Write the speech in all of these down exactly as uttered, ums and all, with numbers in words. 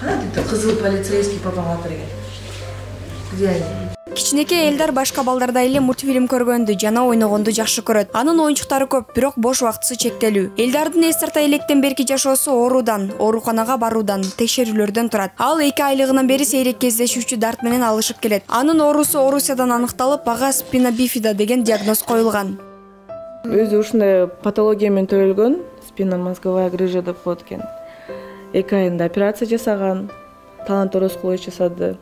Кантип кызыл полицейский папага берген? Где они? Кичинекей Элдар башка балдардай эле мультфильм көргөндү жана ойногонду жакшы көрөт. Анын оюнчуктары көп, бирок бош убактысы чектелүү. Элдардын эс тарта электен берки жашоосу оорудан, ооруканага баруудан, текшерүүлөрдөн турат. Ал эки айлыгынан бери сейрек кездешүүчү дарт менен алышып келет. Анын оорусу Орусиядан аныкталып, ага спина бифида деген диагноз коюлган. Өзү ушундай патология менен төрөлгөн, спинномозговая грыжа деп коет экен. эки айында операция жасаган, таланторосклоз жасады.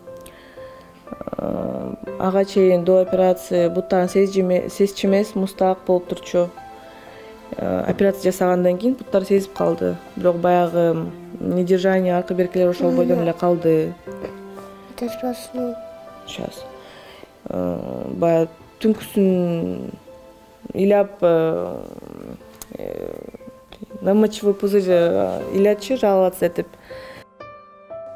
Ага чейин до операции буттарын сезчү эмес, мустак болуп турчу. Операция жасагандан кийин буттар сезип калды. Бирок баягы недержание, аркы беркилер ошол бойдон эле калды. Сейчас. Баягы түнкүсүн ыйлап на мочевой пузырь илячы жаловаться этип.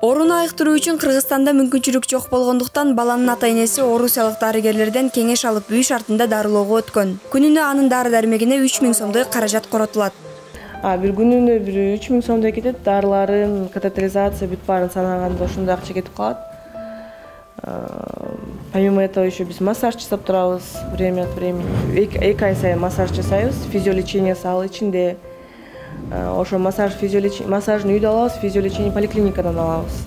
Ооруну айыктыруу үчүн Кыргызстанда мүмкүнчүлүк жок болгондуктан баланын ата-энеси орусиялык дарыгерлерден кеңеш алып үй шартында дарылоого өткөн. Күнүнө анын дары-дармегине үч миң сомдой каражат коротулат. А бир күнүнө бир үч миң сомдой кетет. Дарыларын, катетеризация бүт баарын санаганда ошондой акча кетип калат. Помимо этого еще биз массаж жасап турабыз время от времени. эки ай сайын массаж жасайбыз, физиолечениясы ал ичинде. Ошо массаж физиолечение, массажын үйдө алабыз, физиолечение поликлиникадан алабыз.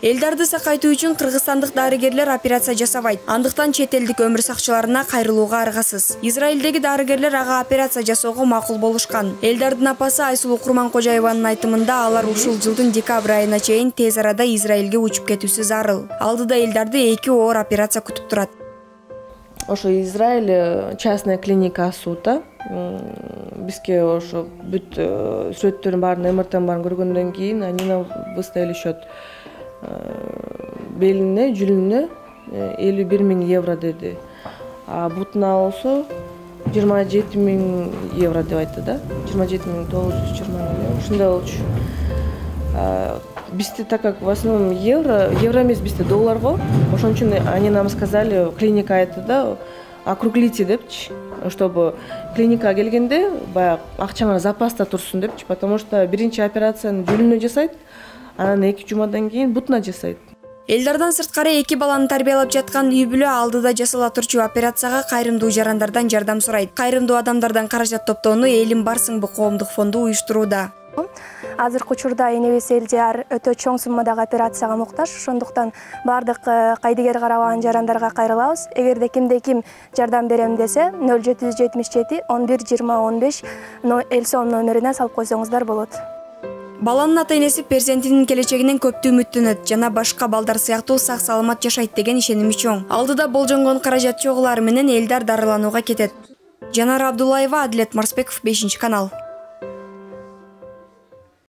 Элдарды сакайтуу үчүн кыргызстандык дарыгерлер операция жасабайт. Андыктан чет элдик өмүр сакчыларына кайрылууга аргасыз. Израилдеги дарыгерлер ага операция жасоого макул болушкан. Элдардын апасы Айсулуу Курманкожаеванын айтымында алар ушул жылдын декабрь айына чейин тез арада Израилге учуп кетүүсү зарыл. Алдыда Элдарды эки оор операция күтүп турат. Ошо Израиль частная клиника ачуута. Бизге ошо бүт сүрөттөрдүн баарын, эм эр тенин баарын көргөндөн кийин они нам выставили счет. Белине, жүлүнүнө элүү бир миң евро деди. А бутуна болсо жыйырма жети миң евро деп айтты да. жыйырма жети миң тогуз жүз жыйырма евро. Ушундай болчу. Бизде так как в основном евро, евро эмес, бизде доллар го. Ошон үчүн они нам сказали, клиника айтты да, округлите депчи, чтобы клиникага келгенде баягы акчаңар запаста турсун депчи, потому что биринчи операцияны жүлүнүнө жасайт, анан эки жумадан кийин бутуна жасайт. Элдардан сырткары эки баланы тарбиялап жаткан үй бүлө алдыда жасала турчу операцияга кайрымдуу жарандардан жардам сурайт. Кайрымдуу адамдардан каражат топтоону Элим Барсыңбы коомдук фонду уюштурууда. Азыркы учурда энебиз Элдияр өтө чоң суммадагы операцияга муктаж, ошондуктан бардык кайдыгер карабаган жарандарга кайрылабыз. Эгерде кимде ким жардам берем десе нөл жети жүз жетимиш жети он бир жыйырма он беш эл сом номерине салып койсоңуздар болот. Баланын ата-энеси перзентинин келечегинен көптү үмүттөнөт жана башка балдар сыяктуу сак саламат жашайт деген ишеними чоң. Алдыда болжонгон каражат чогулары менен Элдар дарыланууга кетет. Жанара Абдуллаева, Адилет Марсбеков, бешинчи канал.